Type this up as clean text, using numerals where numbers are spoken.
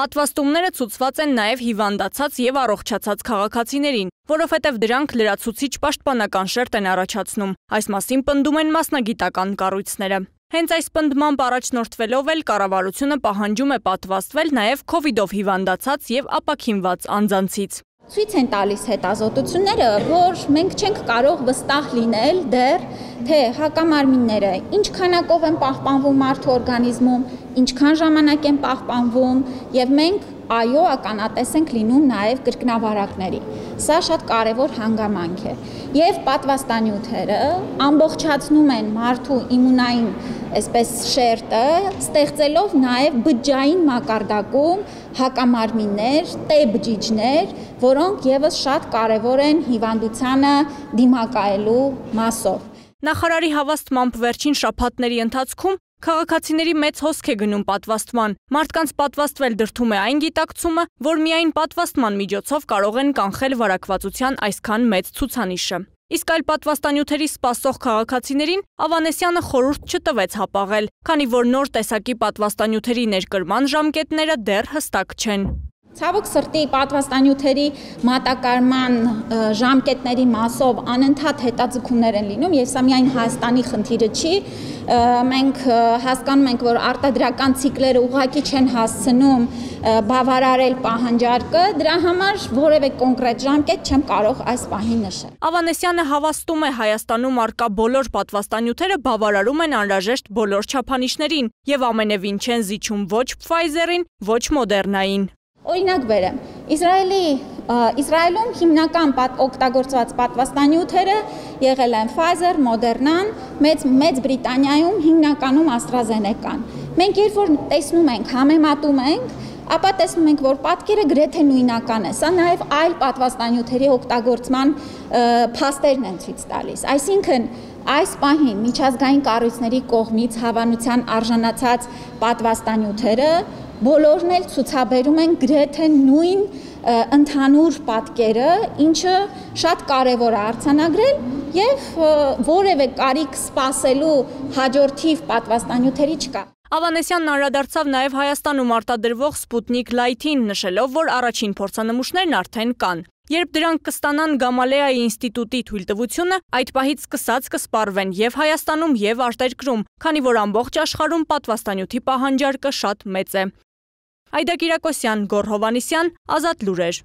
Պատվաստումները ցուցված են նաև հիվանդացած եւ առողջացած քաղաքացիներին, որովհետեւ դրանք լրացուցիչ պաշտպանական շերտ են առաջացնում։ Այս մասին պնդում են մասնագիտական կառույցները։ Հենց այս պնդմամբ առաջնորդվելով էլ կառավարությունը պահանջում է պատվաստվել նաև քովիդով հիվանդացած եւ ապաքինված անձանցից։ Ցույց են տալիս հետազոտությունները, որ մենք չենք կարող վստահ լինել դեռ, թե հակամարմինները ինչ քանակով են պահպանվում մարդու օրգանիզմում, ինչքան ժամանակ են պահպանվում, եւ մենք այո ականատես ենք լինում նաև կրկնավարակների։ Սա շատ կարևոր հանգամանք է։ Եվ պատվաստանյութերը ամբողջացնում են մարդու իմունային այսպես շերտը, ստեղծելով նաև բջջային մակարդակում հակամարմիններ, T բջիջներ, որոնք եւս շատ կարևոր են հիվանդությանը դիմակայելու մասով։ Նախարարի հավաստմամբ վերջին շաբաթների ընթացքում քաղաքացիների մեծ հոսք է գնում պատվաստման։ Մարդկանց պատվաստվել դրդում է այն գիտակցումը, որ միայն պատվաստման միջոցով կարող են կանխել վարակվածության այսքան մեծ ցուցանիշը։ Իսկ այլ պատվաստանյութերի սպասող քաղաքացիներին Ավանեսյանը խորհուրդ չտվեց հապաղել, քանի որ նոր տեսակի պատվաստանյութերի ներկրման ժամկետները դեռ հստակ չեն։ Ցավոք սրտի պատվաստանյութերի մատակարարման ժամկետների մասով անընդհատ հետաձգումներ են լինում, եւ սա միայն Հայաստանի խնդիրը չի։ Մենք հասկանում ենք, որ արտադրական ցիկլերը ուղղակի չեն հասցնում բավարարել պահանջարկը, դրա համար որևէ կոնկրետ ժամկետ չեմ կարող այս պահին նշել։ Ավանեսյանը հավաստում է Հայաստանում առկա բոլոր պատվաստանյութերը բավարարում են անհրաժեշտ բոլոր չափանիշներին եւ ամենևին չեն զիջում ոչ Pfizer-ին, ոչ Moderna-ին։ Օրինակ բերեմ, Իսրայելում հիմնական օգտագործված պատվաստանյութերը եղել են Pfizer, Moderna-ն, Մեծ Բրիտանիայում հիմնականում AstraZeneca-ն։ Մենք երբ որ տեսնում ենք, համեմատում ենք, ապա տեսնում ենք, որ պատկերը գրեթե նույնական է։ Սա նաև այլ պատվաստանյութերի օգտագործման փաստերն են ցույց տալիս։ Այսինքն այս պահին միջազգային կառույցների կողմից հավանության արժանացած պատվաստանյութերը բոլորն էլ ցուցաբերում են գրեթե նույն ընդհանուր պատկերը, ինչը շատ կարևոր է արձանագրել եւ որևէ կարիք սպասելու հաջորդիվ պատվաստանյութերի չկա։ Ավանեսյանն անդրադարձավ նաև Հայաստանում արտադրվող Sputnik Light-ին, նշելով, որ առաջին փորձանմուշներն արդեն կան։ Երբ դրանք կստանան Գամալեայի ինստիտուտի թույլտվությունը, այդ պահից սկսած կսպառվեն եւ Հայաստանում եւ արտերկրում, քանի որ ամբողջ աշխարհում պատվաստանյութի պահանջարկը շատ մեծ է։ Այդա Կիրակոսյան, Գոռ Հովհաննիսյան, Ազատ լուրեր։